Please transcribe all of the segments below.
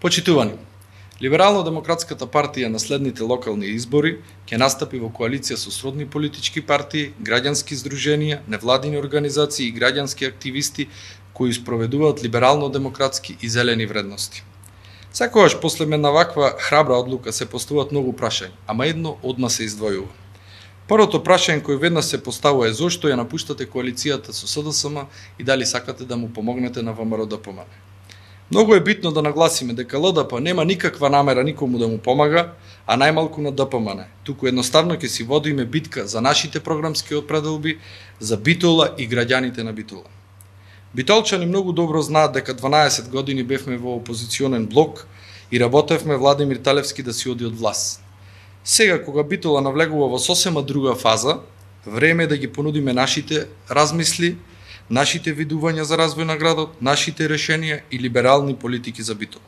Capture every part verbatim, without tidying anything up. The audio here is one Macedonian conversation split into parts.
Почитувани, Либерално-демократската партија на следните локални избори ќе настапи во коалиција со сродни политички партии, граѓански здруженија, невладини организации и граѓански активисти кои спроведуваат либерално-демократски и зелени вредности. Секогаш после една ваква храбра одлука се поставуваат многу прашања, ама едно одма се издвојува. Првото прашање кој веднаш се поставува е зошто ја напуштате коалицијата со СДСМ и дали сакате да му помогнете на ВМРО-ДПМН. Многу е битно да нагласиме дека ЛДП нема никаква намера никому да му помага, а најмалку на ДПМН. Туку едноставно ќе си водиме битка за нашите програмски определби, за Битола и граѓаните на Битола. Битолчани многу добро знаат дека дванаесет години бевме во опозиционен блок и работевме Владимир Талевски да си оди од власт. Сега, кога Битола навлегува во сосема друга фаза, време е да ги понудиме нашите размисли, нашите видувања за развој на градот, нашите решенија и либерални политики за Битола.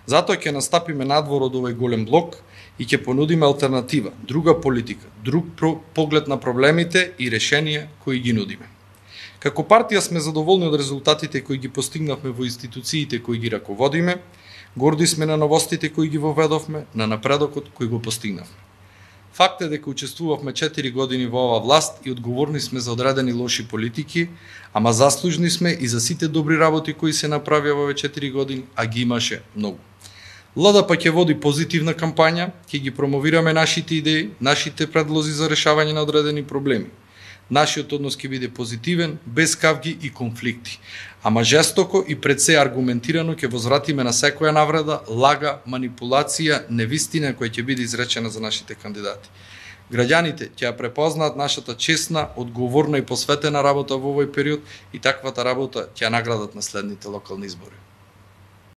Затоа ќе настапиме надвор од овој голем блок и ќе понудиме алтернатива, друга политика, друг поглед на проблемите и решенија кои ги нудиме. Како партија сме задоволни од резултатите кои ги постигнавме во институциите кои ги раководиме, горди сме на новостите кои ги воведовме, на напредокот кој го постигнавме. Факт е дека учествувавме четири години во оваа власт и одговорни сме за одредени лоши политики, ама заслужни сме и за сите добри работи кои се направија во овие четири години, а ги имаше многу. ЛДП ќе води позитивна кампања, ќе ги промовираме нашите идеи, нашите предлози за решавање на одредени проблеми. Нашиот однос ќе биде позитивен, без кавги и конфликти, ама жестоко и пред се аргументирано ќе возвратиме на секоја навреда, лага, манипулација, невистина која ќе биде изречена за нашите кандидати. Граѓаните ќе ја препознаат нашата честна, одговорна и посветена работа во овој период и таквата работа ќе ја наградат на следните локални избори.